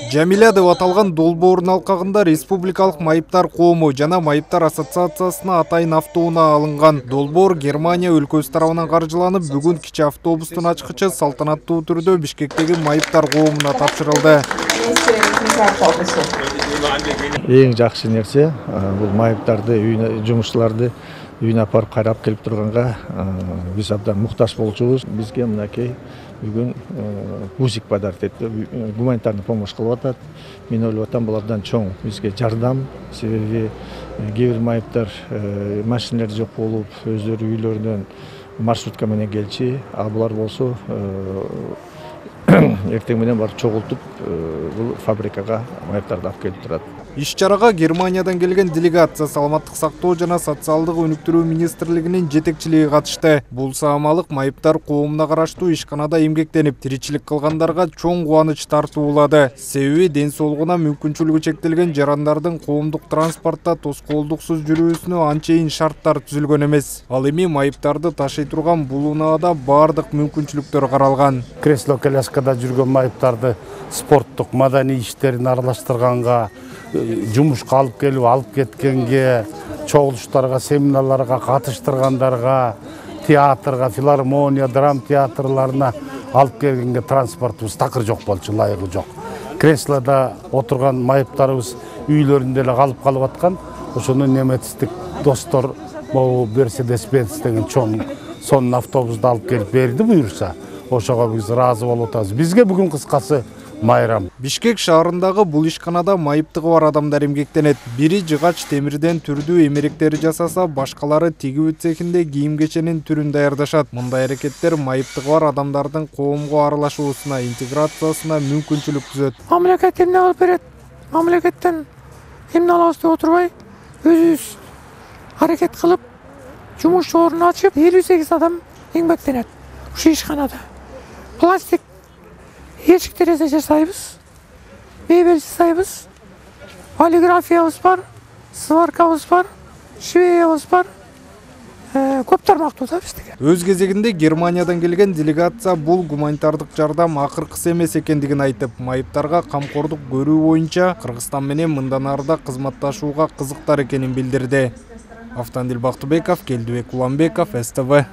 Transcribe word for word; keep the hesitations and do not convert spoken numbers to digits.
Жамиля деп аталган долбоордун алкагында Республикалык майыптар коому жана майыптар ассоциациясына атайын автоунаа алынган. Долбоор Германия өлкөсү тарабынан каржыланып, бүгүн кичи автобустун ачкычы салтанаттуу түрдө Бишкектеги майыптар коомуна тапшырылды. Эң жакшы нерсе бул майыптарды, жумушчуларды үйүнө апарып кайрап келип турганга биз абдан муктаж болчубуз. Бизге мынакей бүгүн УЗИК подарок этти, гуманитарный помощь кылып атат. Мен ойлоп атам, бул абдан чоң бизге жардам. Себеби кээ бир майыптар машиналар жок болуп, өздөрү үйлөрүнөн маршрутка менен келчү, а булар болсо эртең менен барып чогултуп бул фабрикага майыптарды алып келип турат. Иш-чарага Германиядан келген делегация Саламаттык сактоо жана социалдык өнүктүрүү министрлигинин жетекчилиги катышты. Бул саамалык майыптар коомуна караштуу ишканада эмгектенип, тиричилик кылгандарга чоң кубаныч тартуулады. Себеби ден соолугуна мүмкүнчүлүгү чектелген жарандардын коомдук транспортто тоскоолдуксуз жүрүүсүнө анчейин шарттар түзүлгөн эмес. Ал эми майыптарды ташый турган бул унаада баардык мүмкүнчүлүктөр каралган. Кресло-коляскада жүргөн майыптарды спорттук, маданий иштерин аралаштырганга, жумушка алып келип алып кеткенге, чогулуштарга, семинарларга катыштыргандарга, театрга, филармония, драм театрларына алып келгенге транспортубуз такыр жок болчу, ылайыгы жок. Креслода отурган майыптарыбыз үйлөрүндө эле калып калып аткан. Ошону немецтик достор могу Mercedes-Benz деген чоң сонун автобусту алып келип берди буюрса, ошого биз ыраазы болуп атабыз. Бизге бүгүн кыскасы майрам. Бишкек шаарындагы бул ишканада майыптыгы бар адамдар эмгектенет. Бири жыгач темирден түрдүү эмеректер жасаса, башкалары тигүү цехинде кийим-кеченин түрүн даярдашат. Мындай аракеттер майыптыгы бар адамдардын коомго аралашуусуна, интеграциясына мүмкүнчүлүк түзөт. Мамлекет эмне кылып берет? Мамлекеттен эмне алабыз деп отурбай, өзүбүз аракет кылып, жумуш орун ачып, элүү сегиз адам эмгектенет ушу ишканада. Пластик эшик терезе жасайбыз, мебель жасайбыз, полиграфиябыз бар, сваркабыз бар, швеябыз бар. Көп тармактуу да биздики. Өз кезегинде Германиядан келген делегация бул гуманитардык жардам акыркысы эмес экендигин айтып, майыптарга камкордук көрүү боюнча Кыргызстан менен мындан арыда кызматташууга кызыктар экенин билдирди. Автандил Бактыбеков, Келдибек Уланбеков, СТВ.